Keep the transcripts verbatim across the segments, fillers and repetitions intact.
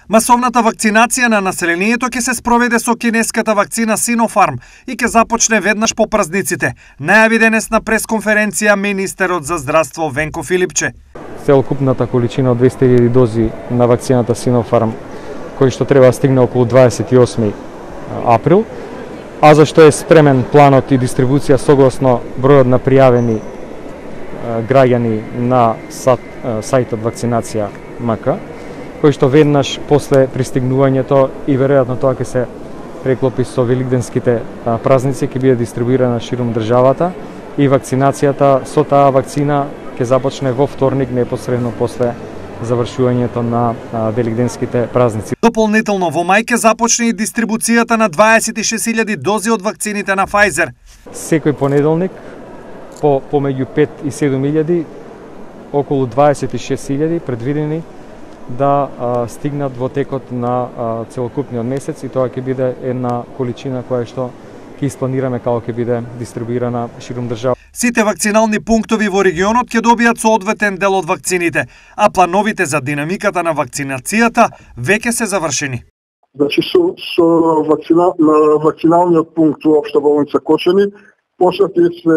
Масовната вакцинација на населението ќе се спроведе со кинеската вакцина Синофарм и ќе започне веднаш по празниците, најави денес на пресконференција министерот за здравство Венко Филипче. Целокупната количина од двесте илјади дози на вакцината Синофарм, кој што треба да стигне околу дваесет и осми април, а зашто е спремен планот и дистрибуција согласно бројот на пријавени граѓани на сајтот вакцинација МК, кој што веднаш после пристигнувањето и веројатно тоа ќе се преклопи со великденските празници, ќе биде дистрибуирана ширум државата и вакцинацијата со таа вакцина ќе започне во вторник непосредно после завршувањето на великденските празници. Дополнително во мај ќе започне и дистрибуцијата на дваесет и шест илјади дози од вакцините на Pfizer. Секој понеделник по помеѓу пет и седум илјади, околу дваесет и шест илјади предвидени да а, стигнат во текот на а, целокупниот месец и тоа ќе биде една количина која што ќе испланираме како ќе биде дистрибуирана ширум држава. Сите вакцинални пунктови во регионот ќе добијат соодветен дел од вакцините, а плановите за динамиката на вакцинацијата веќе се завршени. Значи со, со вакцина, на вакциналниот пункт во Општа болница Кочани почнати се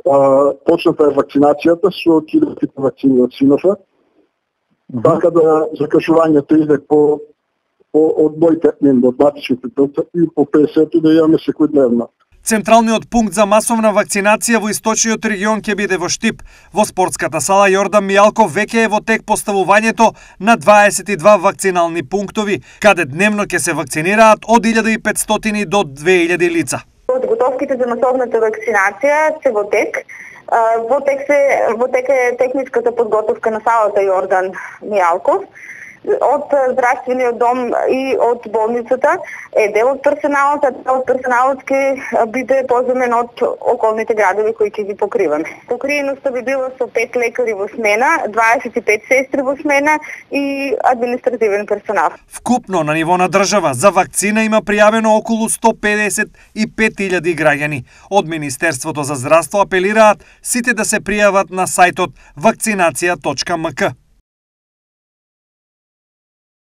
а, почната е вакцинацијата со киловите вакцини од Синофарм. Mm-hmm. Така да закажувањето иде по, по одбојте од матичните телца и по песет да имаме секојдневно. Централниот пункт за масовна вакцинација во источниот регион ќе биде во Штип. Во спортската сала Јордан Мијалков веќе е во тек поставувањето на дваесет и два вакцинални пунктови, каде дневно ќе се вакцинираат од илјада и петстотини до две илјади лица. Подготовките за масовната вакцинација се во тек. Во тек, се, во тек е техничката подготовка на салата Јордан Мијалков. Од здравствениот дом и од болницата е дел од персоналот, а дел од персоналот ќе биде поземен од околните градови кои ќе ги покриваме. Покриеноста би била со пет лекари во смена, дваесет и пет сестри во смена и административен персонал. Вкупно на ниво на држава за вакцина има пријавено околу сто педесет и пет илјади граѓани. Од Министерството за здравство апелираат сите да се пријават на сајтот вакцинација точка ем ка.